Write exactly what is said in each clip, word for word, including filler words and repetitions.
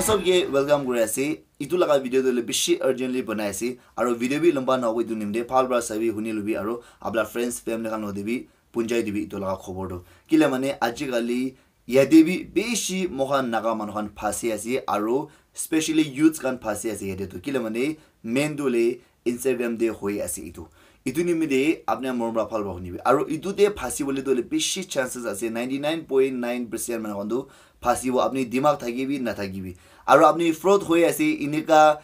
Sob ke welcome kuri ase. Itu laga video tu le bishi urgently banai ase. Aro video bi lamba na hobo itu nimde. Bhal para sabi huni lubi aro abla friends family khan lode bi punjai dibi itu laga khobor tu. Kile mane ajikali yate bi bishi mohan Naga manu khan phasi ase aro specially youths khan phasi ase yate tu. Kile mane main tu le Instagram te hoi ase itu. Itu nimite apni morom para bhal para hunibi. Aro itu te phasi bole tu le bishi chances ase. Ninety nine point nine percent manu khan tu phasi bo apni dimag thaki bi na thaki bi. Aro apni fraud hoi ase inika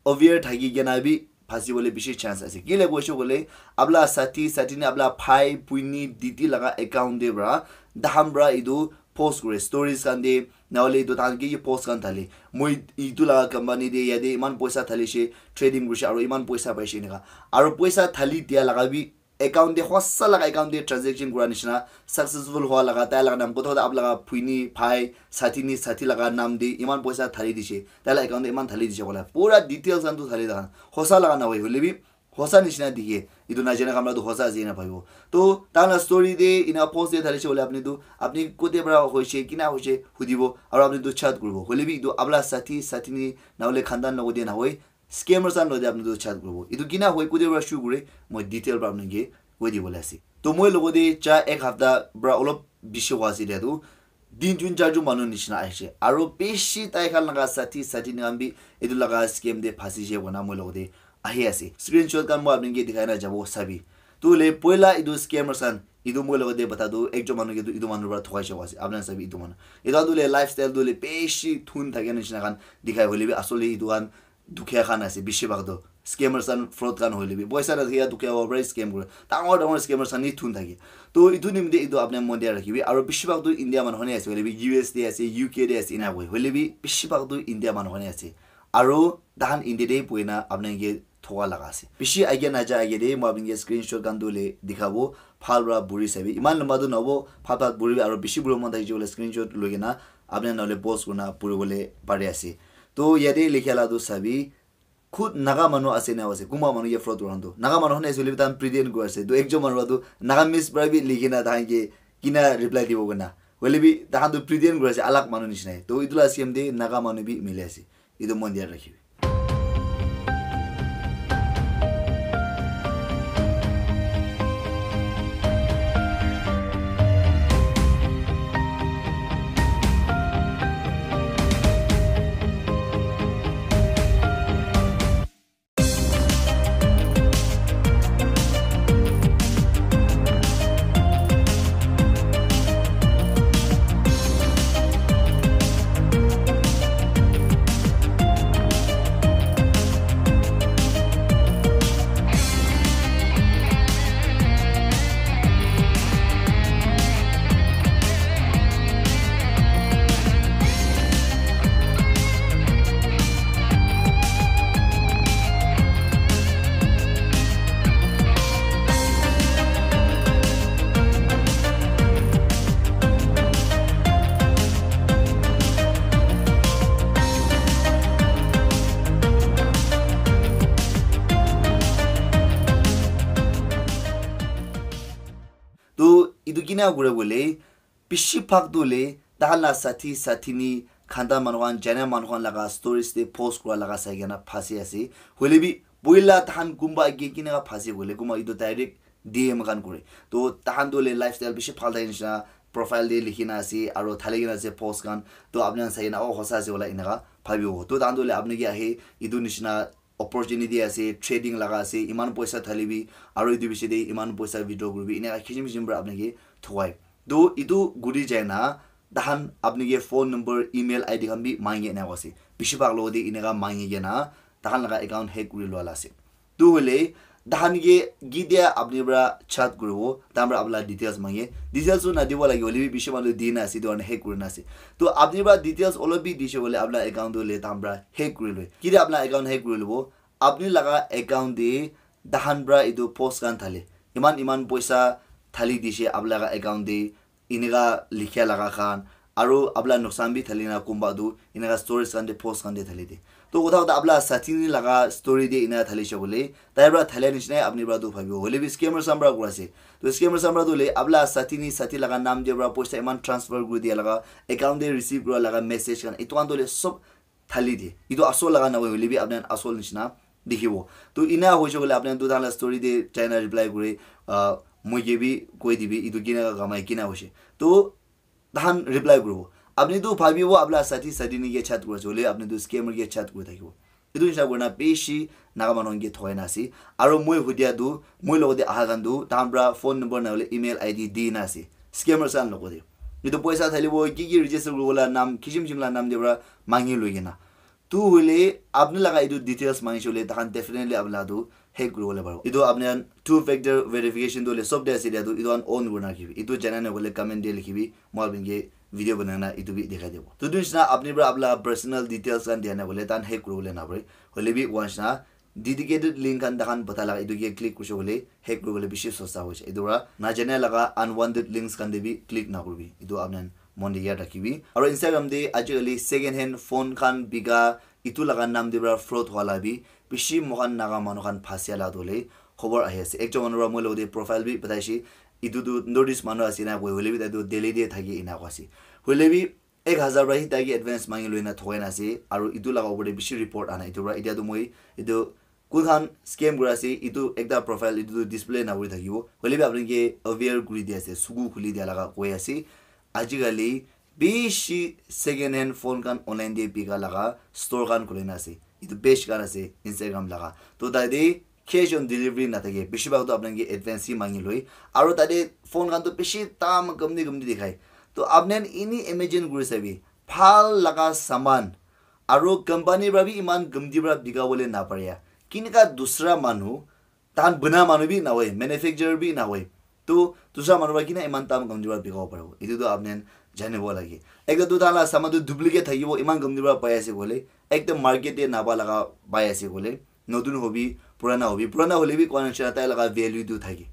aware thaki kena bi phasi bole bishi chance ase. Kile koishe kole abla sathi, sathi ne abla bhai, buni, didi laga account te pra, daham pra itu post kure, stories khan te, nahole itu tahan ki ki post khan thale. Moi itu laga company te yate iman poisa thalishe, trading kurishe, aro iman poisa paishe eneka. Aro poisa thali dia laga bi account te, hosa laga account te transaction kura nishina, successful hua laga, tai laga nam, kotha kotha ap laga bhuini, bhai, sathi ni, sathi laga nam te iman poisa thali dishe, tai laga account te iman thali dishe kola. Pura details khan tu thali laga, hosa laga na hoi, hoile bi hosa nishina dikhe. Itu najana khan pra tu hosa ase ena bhabibo. To, tahan la story te, ena post te thalishe hoile apni tu, apni kote pra hoishe, kina hoishe, hudibo, aro apni tu chat kuribo. Hoile bi itu apna sathi, sathi ni, nahole khandan logo te nahoi, scammers khan logo te apni tu chat kuribo. Itu kina hoi, kote pra show kure, moi detail pra apni ke koi dibole ase. To, moi logo te cha ek hafta pra olop bishi hua ase dia tu, din jun char jun manu nishina ahishe. Aro bishi tai khan laga sathi, sathi ni khan bi etu laga scam te phasi je kona moi logo te ahi ase. Screenshot khan moi apni ke dikhai na jabo sabi. Tu le poila etu scammers khan, etu moi logo te bata tu ekjon manu ke tu etu manu pra thokai jabo ase. Apni sabi etu manu. Etu tu le lifestyle tu le bishi thun thake nishina khan dikhai hoile bi asole etu khan dukhia khan ase, bishi bhag tu. Scammers khan, fraud khan hoile bi. Poisa na thake dukhia hobo pra scam kore. Dangor dangor scammers khan ni thun thake. To, itu nimite itu apni mon dia rakhibi. Aro bishi bhag tu India manu khan he ase, hoile bi U S te ase, U K te ase, ena koi. Hoile bi bishi bhag tu India manu khan he ase. Aro tahan India te buhina apni ke thoka laga ase. Bishi age naja age de, moi apni ke screenshot khan tu le dikhabo. Bhal pra buri sabi. Iman lamba tu nabo, bhal pra buri aro bishi buri mon thakishe hoile screenshot loi kena apni nahole post kurna puri bole pari ase. To, yate likha la tu sabi, khud Naga manu ase na ase, kunba manu ke fraud kuran tu. Naga manu khan ase hoile bi tahan pretend kuri ase. Tu ekjon manu tu Nagamese pra bi likhi na tahan ke kina reply dibo koi na. Hoile bi tahan tu pretend kuri ase, alag manu nishina. To itu la scam te Naga manu bi mili ase. Itu mon dia rakhibi. To, itu kina kure bole, bishi bhag tu le, tahan la sathi, sathi ni, khandan manu khan, jana manu khan laga stories te post kura laga sai kena phasi ase. Hoile bi, boila tahan kunba ke kina phasi bole, kunba itu direct D M khan kure. To, tahan tu le lifestyle bishi bhal thaki nishina, profile te likhi na ase, aro thali kena ase post khan. To, apni khan sai kena, oh, hosa ase wala eneka bhabibo. To, tahan tu le apni ke ahe, itu nishina opportunity ase, trading laga ase, iman poisa thalibi, aro etu bishi de iman poisa withdraw kuribi, eneka kisim kisim pra apni ke thokai. To, etu guri jai na, tahan apni ke phone number, email I D khan bi mangi eneka ase. Bishi bhag logo de eneka mangi kena, tahan laga account hack kuri lua la ase. To hoile, tahan ke gidia apni pra chat kuribo, tahan pra apna details mange. Details tu nadibo lage, hoile bi bishi manu di na ase, etu karne hack kuri na ase. To apni pra details olop bi dishe hoile, apna account tu le tahan pra hack kuri loi. Kile apna account hack kuri lobo, apni laga account te tahan pra etu post khan thale. Iman, iman poisa thali dishe apni laga account te, eneka likhia laga khan, aro apna nuksan bi thali na kunba tu, eneka stories khan te, post khan te thali de. To kotha kotha apna sathi ni laga story te eneka thalishe bole, tai pra thalia nishina apni pra tu bhabibo. Hoile bi scammers khan pra kura ase. To scammers khan pra tu le, apna sathi ni sathi laga nam te pra poisa iman transfer kuri dia laga, account te receive kura laga message khan, etu khan tu le sob thali de. Etu asol laga nahoi hoile bi apni khan asol nishina dikhibo. To ina hoise koile apni khan tu tahan la story de jaina reply kuri, ah, moi ke bi koi dibi etu kina ka kamai kina hoise. To tahan reply kuribo. Apni tu bhabibo apni la sathi sathi ni ke chat kuri ase hoile apni tu scammer ke chat kuri thakibo. Etu nishina kurina bishi Naga manu khan ke thokai na ase. Aro moi hudia tu, moi logote aha khan tu, tahan pra phone number na hoile email I D di na ase. Scammers khan logote. Etu poisa thalibo, ki ki register kuribo la nam, kishim kishim la nam de pra mangi loi kena. Tu hoile apni laga etu details mangi shole, tahan definitely apni laga tu hack kuribole paribo. Etu apni khan two factor verification tu hoile sob de ase dia tu, etu khan on kurina rakhibi. Etu jana na hoile comment de likhibi, moi apni ke video banai na etu bi dikhai dibo. To etu nishina apni pra apni laga personal details khan dia na hoile tahan hack kuribole na pare. Hoile bi etu nishina dedicated link khan tahan bata laga etu ke click kurise hoile hack kuribole bishi sosta hoise. Etu pra najana laga unwanted links khan de bi click na kuribi. Etu apni khan mon de yaad rakhibi. Aro Instagram de ajikali second hand phone khan bika etu laga nam de pra fraud howa la bi bishi moikhan Naga manu khan phasia la tu hoile khobor ahi ase. Ekjon manu pra moi logote profile bi bataise. Etu tu North East manu ase na koi hoile bi tai tu Delhi de thaki ena koi ase. Hoile bi ek hazar pra hi tai ke advance mangi loi na thokai na ase. Aro etu laga upor de bishi report ana. Etu pra etia tu moi etu kun khan scam kuri ase, etu ekta profile etu tu display na kuri thakibo. Hoile bi apni ke aware kuri di ase, suku khuli dia laga koi ase. Ajikali bishi second hand phone khan online de bika laga store khan khuli na ase. Etu page khan ase Instagram laga. To tate cash on delivery na thake. Bishi bhag to apni ke advance hi mangi loi. Aro tate phone khan to bishi dam gamdi gamdi dikhai. To apni khan ini imagine kuri sabi. Bhal laga saman. Aro company pra bi iman gamdi pra bika bole na pare ya. Kinika dusra manu tahan buna manu bi nahoi, manufacturer bi nahoi. To dusra manu pra kina iman tam gamdi pra bikabo paribo. Etu tu apni khan janibo lage. Ekta tu tahan la saman tu duplicate thakibo, iman gamdi pra pai ase koile. Ekta market de napa laga pai ase koile. Notun hobi, purana hobi. Purana hole bi koi nishina tai laga value tu thake.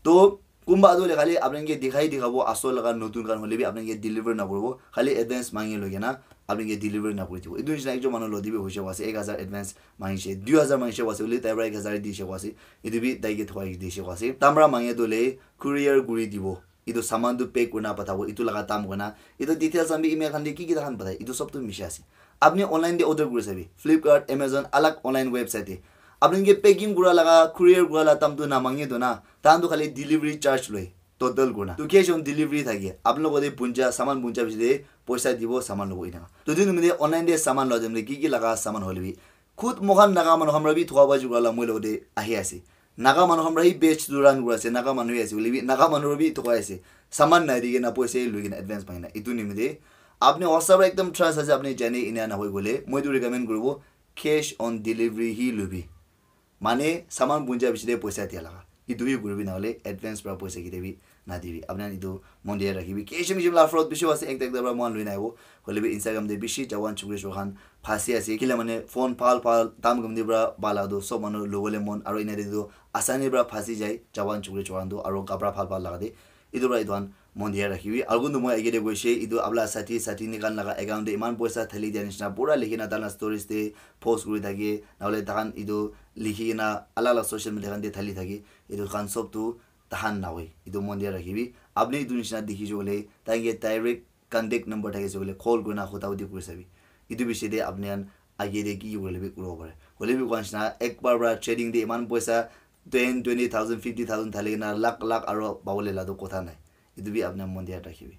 To kunba tu hoile khali apni khan ke dikhai dikhabo, asol laga notun khan hole bi apni khan ke deliver na kuribo. Khali advance mangi loi kena apni khan ke deliver na kuri dibo. Etu nishina ekjon manu logote bi hoise koa ase, ek hazar advance mangise, dui hazar mangise koa ase, hoile tai pra ek hazar dise koa ase, etu bi tai ke thokai dise koa ase. Tahan pra mangi tu hoile courier kuri dibo. Etu saman tu pack kurina pathabo, etu laga dam kurina. Etu details khan bi email khan de ki ki tahan pathai, etu sob tu misha ase. Apni online de order kuri sabi, Flipkart, Amazon, alag online website de. Apni ke packing kura laga, courier kura laga dam tu na mangi tu na, tahan tu khali delivery charge loi. Total kurna. To cash on delivery thake. Apni logote punja, saman punja bishi de poisa dibo, saman lobo ina. To etu nimite online de saman lo jam de ki ki laga saman hole bi. Khud moikhan Naga manu khan pra bi thoka baji kura la moi logote ahi ase. Naga manu khan pra hi page tu run kura ase, Naga manu hi ase, hoile bi Naga manu pra bi thokai ase. Saman nai di kena poisa hi loi kena advance mangi na. Etu nimite apni WhatsApp pra ekdam trust ase, apni jane ina na hoi gole, moi tu recommend kuribo cash on delivery hi lobi. Mane saman punja bishi de poisa dia laga. Etu hi kuribi na hole advance pra poisa kete bi na dibi. Apni khan etu mon de rakhibi. Kishim kishim la fraud bishi ase, ekta ekta pra moikhan loi naibo. Hoile bi Instagram de bishi jawan chukri chukri khan phasi ase. Kila mane phone phal phal dam gamdi pra bala tu sob manu lobole mon. Aro ina de tu asani pra phasi jai jawan chukri chukri khan tu. Aro kapra phal phal laga de. Etu pra etu khan mon dia rakhibi. Aru kuntu moi age te koise, etu apna sathi, sathi ni khan laga account te iman poisa thali dia nishina pura likhi na tahan la stories te post kuri thake, nahole tahan etu likhi kena alak alak social media khan te thali thake. Etu khan sob tu tahan nahoi. Etu mon dia rakhibi. Apni etu nishina dikhi se koile, tahan ke direct contact number thakise koile, call kurina kotha koti kuri sabi. Etu bishi te apni khan age te ki ki kurile bi kuribo pare. Hoile bi koa nishina, ek bar pra trading te iman poisa, ten, twenty thousand, fifty thousand thali kena lakh lakh aro pabole la tu kotha nai. Etu bi apni khan mon dia rakhibi.